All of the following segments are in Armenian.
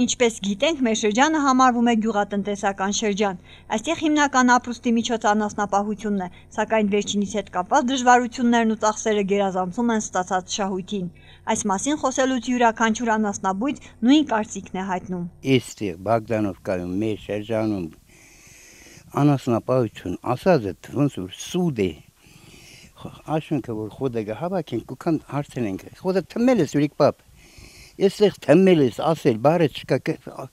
Ինչպես գիտենք, մեր շրջանը համարվում է գյուղատնտեսական շրջան։ Այստեղ հիմնական ապրուստի միջոց անասնապահությունն է, սակայն վերջինիս հետ կապված դժվարություններն ու ծախսերը գերազանցում են ստացած շահույթին։ Այս մասին խոսելուց յուրաքանչյուր անասնաբույծ նույն կարծիքն է հայտնում։ Այստեղ Բաղդանովկայում մեր շրջանում անասնապահություն ասածը ոնց որ սուդ է։ Աշունքը որ խոդը հավաքենք ու քան հարցնենք։ Խոդը թմել է ուրիկ պապ։ Այստեղ թմել ես ասել բարը չկա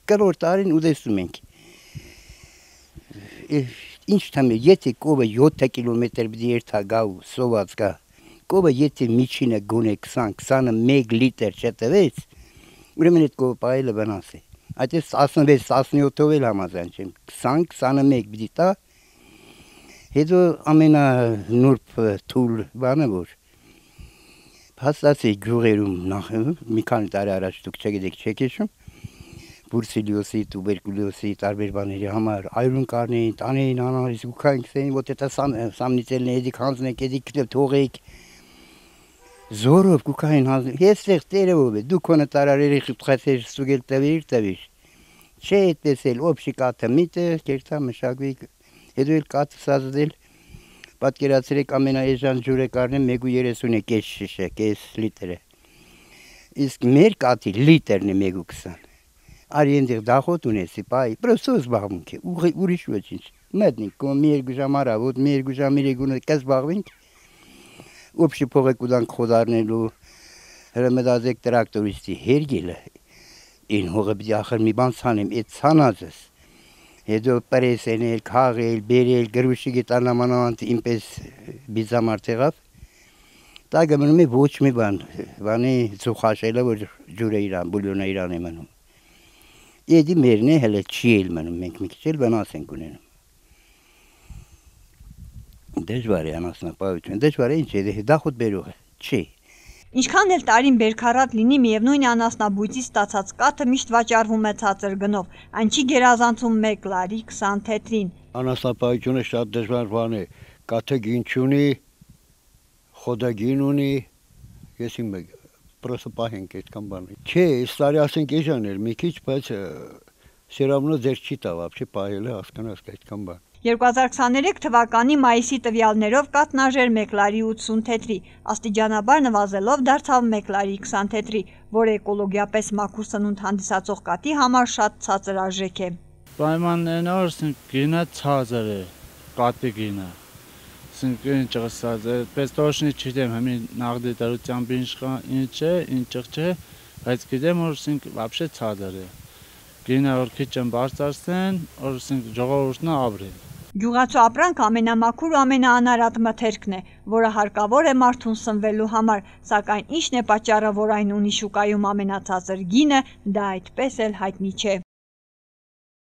կրորդ տարին ուտեսում ենք։ Ինչ թմել, եթե կովը 7 կիլոմետր պիտի երթա գա ու սոված գա։ Կովը եթե միջինը գոնե 20-21 լիտր չտվեց, ուրեմն այդ կովը պահելը վնաս է։ Այդպես 16-17-ով էլ համաձայն չեմ, 20-21 պիտի տա։ Հետո ամենանուրբ թույլ բանը որ հաստացի գյուղերում նախ մի քանի տարի առաջ դուք չգիտեք չեք հիշում բուրսիլիոսի, տուբերկուլոզի տարբեր բաների համար այրուն կառնեին, տանեին անալիզ ու քայքսեին, вот это սամնիցելն էդիկ հանձնեք, էդիկ թողեք զորով կուքային հանձնեք, եստեղ տերևով է, դու քոնը տարարերի խիպխացեր ստուգել տվիր, չէ այդպես էլ օբշի կաթը միտը, կերտա մշակվի, հետո էլ կաթը սազդել պատկերացրեք ամենաեժան ջուրը կառնեմ 1.30 է կես շիշը, կես լիտր է։ Իսկ մեր կաթի լիտրն է 1.20։ Արի այնտեղ դախոտ ունեցի, պայ, պրոստո զբաղմունք է, ուրիշ ոչինչ։ Մտնենք, կոմ մի երկու ժամ առավոտ, մի երկու ժամ իրեգունը կզբաղվենք, օբշի փողը կուտանք խոդարնելու, հրմդազեք տրակտորիստի հերգելը, այն հողը պիտի ախր մի բան ցանեմ, այդ ցանածս հետո պրեսենել, քաղել, բերել, գրուշի գետանամանանտ ինպես բիզամարդ եղավ, դա գմնում է ոչ մի բանի ծուխաշելը, որ ջուրը իրան, բուլյոնը իրան է մնում։ Եդի մերն է հələ չի էլ մնում, մենք մի քիչ էլ վնաս ենք ունենում։ Դժվար է անասնապահություն, դժվար է ինչ է, դախոտ բերող է, չի։ Ինչքան էլ տարին բերքարատ լինի, միևնույն անասնաբույծից ստացած կաթը միշտ վաճառվում է ցածր գնով, այն չի գերազանցում 1 լարի 20 թեթրին։ Անասնապահությունը շատ դժվար բան է, կաթը գին չունի, խոդը գին ունի, ես իմ պրոսը պահենք այդքան բանը։ Չէ, այս տարի ասենք էժան էր մի քիչ, բայց սերավնո ձեր չի տա, вообще պահելը հասկանաս այդքան բան։ 2023 թվականի մայիսի տվյալներով կաթն արժեր 1 լարի 80 թեթրի, աստիճանաբար նվազելով դարձավ 1 լարի 20 թեթրի, որը էկոլոգիապես մաքուր սնունդ հանդիսացող կաթի համար շատ ցածր արժեք է։ Պայմաններն ասենք գինը ցածր է, կաթի գինը։ Ասենք ինչ ասած, պես точно չգիտեմ, հիմա նաղդի դարությամբ ինչ է, ինչ չէ, բայց գիտեմ որ ասենք вообще ցածր է։ Գինը որ քիչ են բարձրացնեն, որ ասենք ժողովուրդն ապրի։ Գյուղացու ապրանքը ամենամաքուր ու ամենաանարատ մթերքն է, որը հարկավոր է մարդուն սնվելու համար, սակայն ինչն է պատճառը, որ այն ունի շուկայում ամենացածր գինը, դա այդպես էլ հայտնի չէ։